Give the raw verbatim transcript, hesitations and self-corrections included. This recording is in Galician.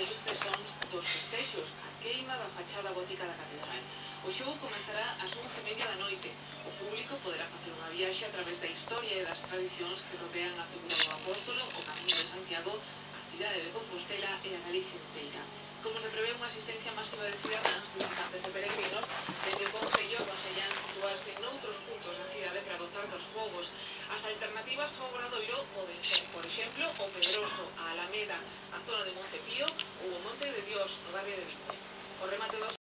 deles sons dos festexos, a queima da fachada gótica da catedral. O xogo comezará ás once e media da noite. O público poderá facer unha viaxe a través da historia e das tradicións que rodean a figura do apóstolo, o Camiño de Santiago, a cidade de Compostela e a Galicia inteira. Como se prevé unha asistencia máxima de cidadáns, visitantes e peregrinos, dende o Concello aconsellan situarse noutros puntos da cidade para gozar dos fogos. As alternativas ao Obradoiro poden ser, por exemplo, o Pedroso, a Alameda, a zona de Montepío ou o Monte de Dios, no barrio de Viña. O remate dos